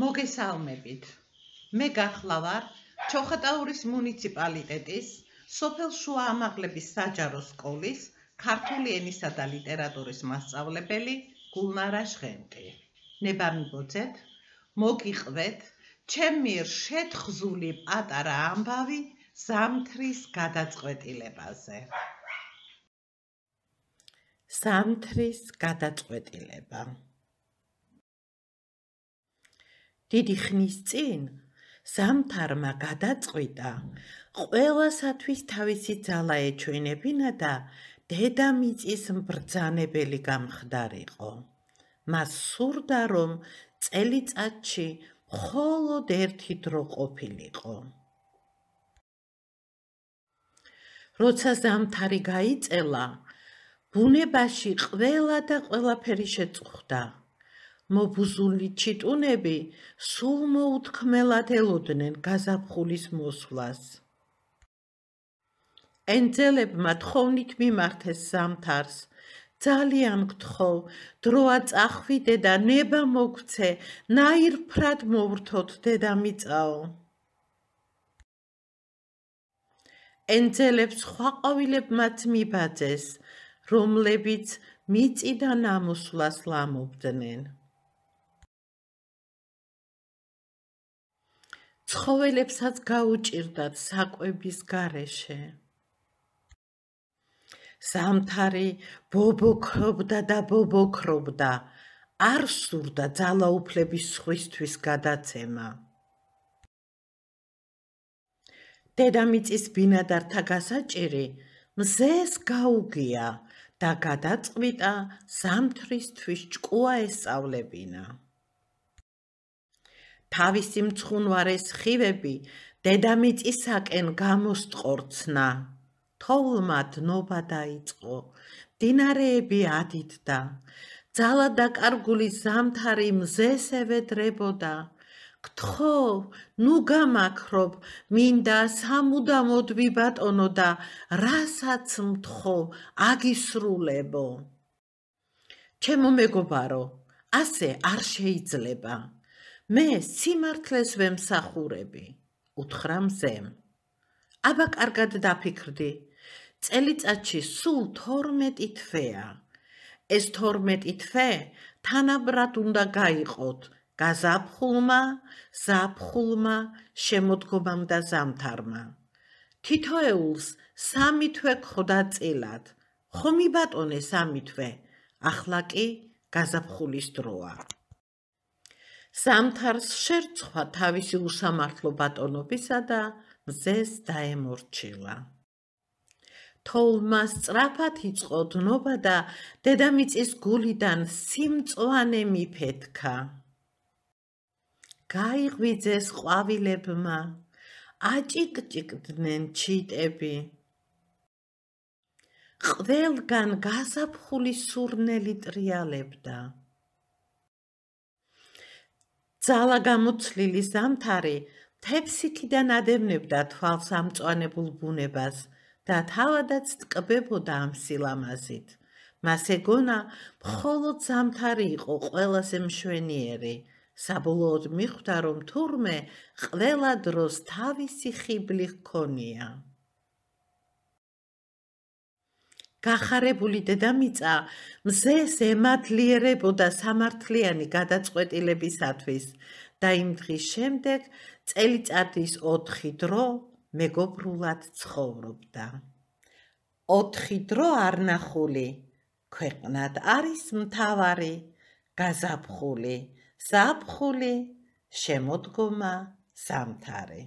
მოგესალმებით. მე გახლა ვარ ჩოხატაურის მუნიციპალიტეტის სოფელ შუა ამაღლების საჯარო სკოლის ქართული ენისა და ლიტერატურის მასწავლებელი გულნარა ჟღენტი. ნება მიბოძეთ, მოგიყვეთ ჩემ მიერ შეთხზული პატარა ამბავი ზამთრის გადაწყვეტილებაზე. ზამთრის გადაწყვეტილება. დიდი ხნის წინ ზამთარმა გადაწყვიტა ყველასათვის თავისი ძალა ეჩვენებინა და დედამიწის mbრძანებელი გამხდარიყო. მას სურდა, რომ წელიწადში მხოლოდ ერთი დრო ყოფილიყო. როცა ზამთარი გაიწელა, ბუნებაში ყველა და ყველაფერი შეწუხდა. მობუზული ჩიტუნები სულ მოუთქმელად ელოდნენ გაზაფხულის მოსვლას. ენძელებმა თხოვნით მიმართეს ზამთარს. ძალიან გთხოვ, დროა წახვიდე და ნება მოგცე, ნაირფრად მოვრთოთ დედამიწაო. ენძელებს სხვა ყვავილებმაც მიბაძეს, რომლებიც მიწიდან ამოსვლას ლამობდნენ. ცხოველებსაც გაუჭირდათ საკვების გარეშე. ზამთარი ბობოქრობდა და ბობოქრობდა, არ სურდა ძალაუფლების სხვისთვის გადაცემა. დედამიწის ბინადართა გასაჭირი მზეს გაუგია და გადაწყვიტა ზამთრისთვის ჭკუა ესწავლებინა. თავისი მცხუნვარე სხივები დედამიწისაკენ გამოსტყორცნა. თოვლმა დნობა დაიწყო, მდინარეები ადიდდა, ძალა დაკარგული ზამთარი მზეს ევედრებოდა. გთხოვ, ნუ გამაქრობ, მინდა სამუდამოდ ვიბატონო და რასაც მთხოვ, აგისრულებო. ჩემო მეგობარო, ასე არ შეიძლება. მე სიმართლეს ვემსახურები, უთხრა მზემ. აბა კარგად დაფიქრდი, წელიწადში სულ 12 თვეა. ეს 12 თვე თანაბრად უნდა გაიყოთ გაზაფხულმა, ზაფხულმა, შემოდგომამ და ზამთარმა. თითოეულს 3 თვე გხვდა წილად. ხო მიბატონე 3 თვე, ახლა კი გაზაფხულის დროა. ზამთარს შერწყვა თავისი უსამართლო ბატონობისა და მზეს დაემორჩილა. თოვლმა სწრაფად იწყო დნობა და დედამიწის გულიდან სიმწვანე მიფეთქა. გაიღვიძეს ყვავილებმა, აჭიკჭიკდნენ ჩიტები. ყველგან გაზაფხულის სურნელი ტრიალებდა. ძალა გამოცლილი ზამთარი მთებსიქიდან ადევნებდა თვალს ამწვანებულ ბუნებას და თავადაც ტკბებოდა ამ სილამაზით. მას ეგონა მხოლოდ ზამთარი იყო ყველაზე მშვენიერი. საბოლოოდ მიხვდა, რომ თურმე ყველა დროს თავისი ხიბლი ჰქონია. გახარებული დედამიწა მზეს ემადლიერებოდა სამართლიანი გადაწყვეტილებისათვის და იმ დღის შემდეგ წელიწადის 4 დრო მეგობრულად ცხოვრობდა. 4 დრო არნახული, ქვეყნად არის მთავარი, გაზაფხული, ზაფხული, შემოდგომა, ზამთარი.